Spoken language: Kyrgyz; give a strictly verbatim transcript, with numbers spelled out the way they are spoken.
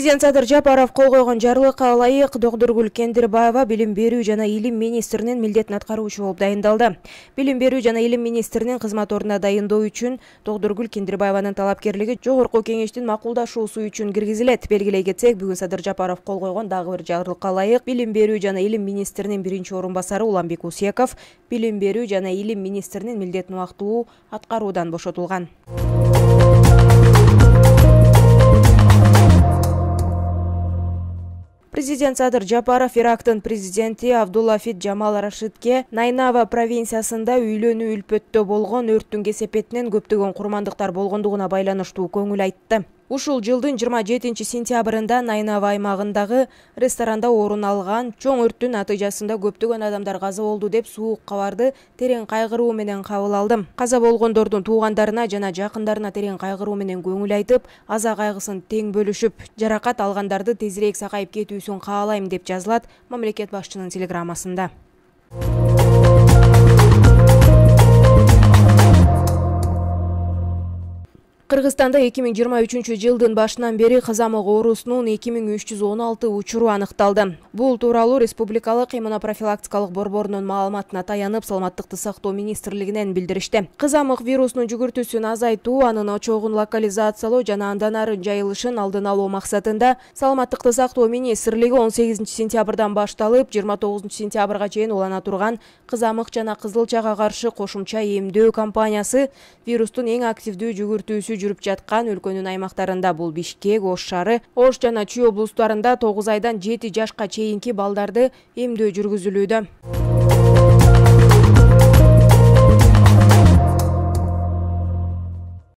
Президент Садыр Жапаров кол койгон жарлыкка ылайык Доктургүл Кендирбаева билим берүү жана илим министринин милдетин аткаруучу болуп дайындалды. Билим берүү жана илим министринин кызмат ордуна дайындоо үчүн Доктургүл Кендирбаеванын талапкерлиги жогорку кеңештин макулдашуусу үчүн киргизилет. Белгилей кетсек, бүгүн Садыр Жапаров кол койгон дагы бир жарлыкка ылайык билим берүү жана илим министринин биринчи орун басары Уланбек Усеков билим берүү жана илим министринин милдетин убактылуу аткаруудан бошотулган. Президент Садыр Жапаров Ирактын президенти Абдуллафит Жамал Рашидке Найнава провинциясында үйлөнүү үлпөттө болгон өрттүн кесепетинен көптөгөн курмандыктар болгондугуна байланыштуу көңүл айтты. Ушул жылдын жыйырма жетинчи сентябрында Найнава аймагындагы ресторанда орун алган чоң өрттүн натыйжасында көптөгөн адамдар каза болду деп суук кабарды терең кайгыруу менен кабыл алдым. Каза болгондордун туугандарына жана жакындарына терең кайгыруу менен көңүл айтып, аза кайгысын тең бөлүшүп, жаракат алгандарды тезирээк сакайып кетүүсүн каалайм деп жазылат мамлекет башчынын телеграммасында. Кыргызстанда эки миң жыйырма үчүнчү жылдын башынан бери кызамык оорусунун эки миң үч жүз он алты учуру аныкталды. Бул тууралуу Республикалык иммунопрофилактикалык борборунун маалыматына таянып, Саламаттыкты сактоо министрлигинен билдиришти. Кызамык вирусунун жүгүртүүсүн азайтуу, анын очогун локализациялоо жана андан ары жайылышын алдын алуу максатында Саламаттыкты сактоо министрлиги он сегизинчи сентябрдан башталып, жыйырма тогузунчу сентябрга чейин улана турган кызамык жана кызылчага каршы кошумча эмдөө кампаниясы вирустун эң активдүү жүгүртүүсү жүрүп жаткан өлкөнүн аймактарында бул Бишкек, Ош шаары, Ош жана Чүй облустарында тогуз айдан жети жашка чейинки балдарды эмдөө жүргүзүлүүдө.